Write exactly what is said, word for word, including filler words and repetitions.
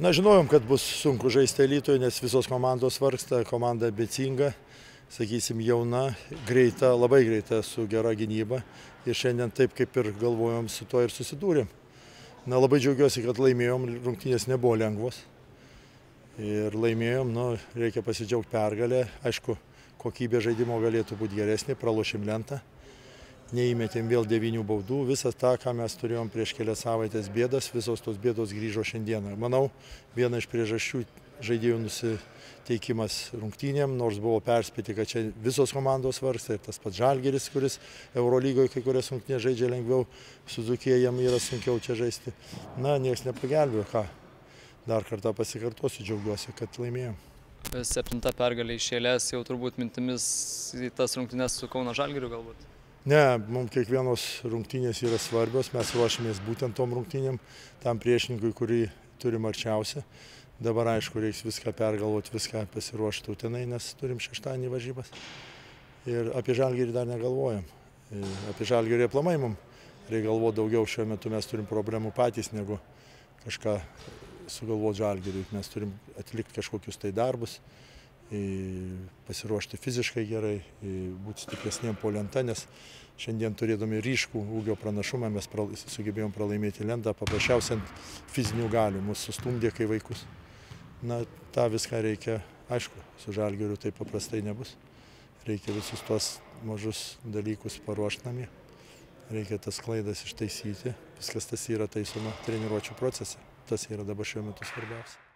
Na, žinojom, kad bus sunku žaisti Alytuje, nes visos komandos vargsta, komanda ambicinga, sakysim, jauna, greita, labai greita, su gera gynyba. Ir šiandien taip, kaip ir galvojom, su to ir susidūrėm. Na, labai džiaugiuosi, kad laimėjom, rungtynės nebuvo lengvos. Ir laimėjom, nu, reikia pasidžiaugti pergalę. Aišku, kokybė žaidimo galėtų būti geresnė, pralošėm lentą. Neįmetėm vėl devynių baudų. Visas tą, ką mes turėjom prieš kelias savaitės bėdas, visos tos bėdos grįžo šiandieną. Manau, viena iš priežasčių žaidėjų nusiteikimas rungtynėm, nors buvo perspėti, kad čia visos komandos vargsta, ir tas pats Žalgiris, kuris Eurolygoje kai kurias rungtynės žaidžia lengviau, su Dzūkija jam yra sunkiau čia žaisti. Na, nieks nepagelbėjo, ką. Dar kartą pasikartosiu, džiaugiuosi, kad laimėjom. Septinta pergalė iš eilės, jau turbūt mintimis į tas rungtynes su Kauno Žalgiriu galbūt? Ne, mums kiekvienos rungtynės yra svarbios, mes ruošiamės būtent tom rungtynėm, tam priešininkui, kurį turim arčiausia. Dabar, aišku, reiks viską pergalvoti, viską pasiruošti Utenai, nes turim šeštadienį varžybas. Ir apie Žalgirį dar negalvojam. Apie Žalgirį aplamai mums reikia galvoti daugiau, šiuo metu mes turim problemų patys, negu kažką sugalvoti Žalgiriui. Mes turim atlikti kažkokius tai darbus, pasiruošti fiziškai gerai, būti stipresniem po lenta, nes šiandien turėdami ryškų ūgio pranašumą mes sugebėjom pralaimėti lentą, paprasčiausiai ant fizinių galių, mus sustumdė kai vaikus. Na, tą viską reikia, aišku, su Žalgiriu tai paprastai nebus. Reikia visus tos mažus dalykus paruošti namie. Reikia tas klaidas ištaisyti, viskas tas yra taisoma treniruočių procese. Tas yra dabar šiuo metu svarbiausia.